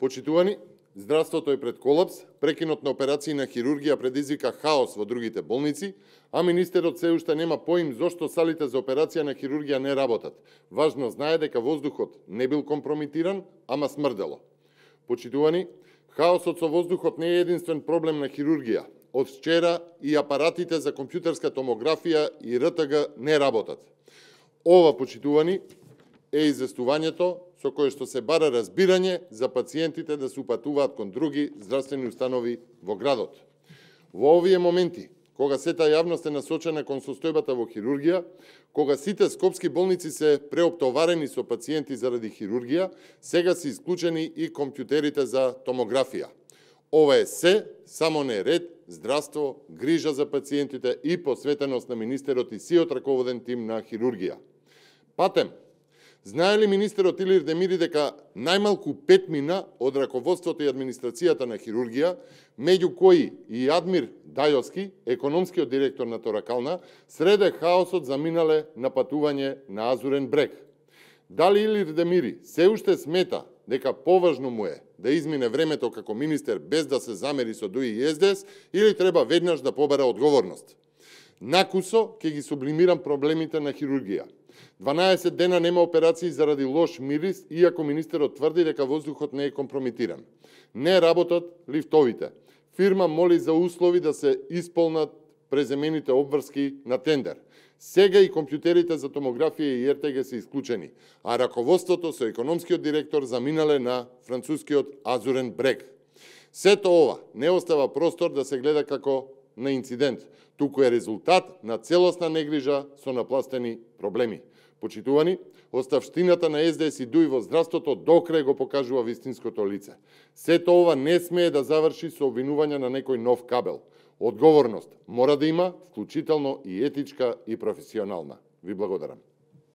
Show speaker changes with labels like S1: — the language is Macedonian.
S1: Почитувани, здравството е пред колапс, прекинот на операции на хирургија предизвика хаос во другите болници, а министерот се уште нема поим зошто салите за операција на хирургија не работат. Важно знае дека воздухот не бил компрометиран, ама смрдело. Почитувани, хаосот со воздухот не е единствен проблем на хирургија. Од вчера и апаратите за компјутерска томографија и РТГ не работат. Ова, почитувани, е известувањето со кое што се бара разбирање за пациентите да се упатуваат кон други здравствени установи во градот. Во овие моменти, кога сета јавност е насочена кон состојбата во хирургија, кога сите скопски болници се преоптоварени со пациенти заради хирургија, сега се исклучени и компјутерите за томографија. Ова е се, само не ред, здравство, грижа за пациентите и посветеност на министерот и сиот раководен тим на хирургија. Патем, знае ли министерот Илир Демири дека најмалку 5 мина од раководството и администрацијата на хирургија, меѓу кои и Адмир Дајовски, економскиот директор на Торакална, среде хаосот заминале на патување на Азурен брег? Дали Илир Демири се уште смета дека поважно му е да измине времето како министер без да се замери со ДУИ и СДС, или треба веднаш да побара одговорност? Накусо ќе ги сублимирам проблемите на хирургија. 12 дена нема операции заради лош мирис, иако министерот тврди дека воздухот не е компрометиран. Не работат лифтовите. Фирма моли за услови да се исполнат преземените обврски на тендер. Сега и компјутерите за томографија и РТГ се исклучени, а раководството со економскиот директор заминале на францускиот Азурен брег. Сето ова не остава простор да се гледа како на инцидент, туку е резултат на целосна негрижа со напластени проблеми. Почитувани, оставштината на СДС и ДУИ во здравството докрај го покажува вистинското лице. Сето ова не смее да заврши со обвинување на некој нов кабел. Одговорност мора да има, вклучително и етичка и професионална. Ви благодарам.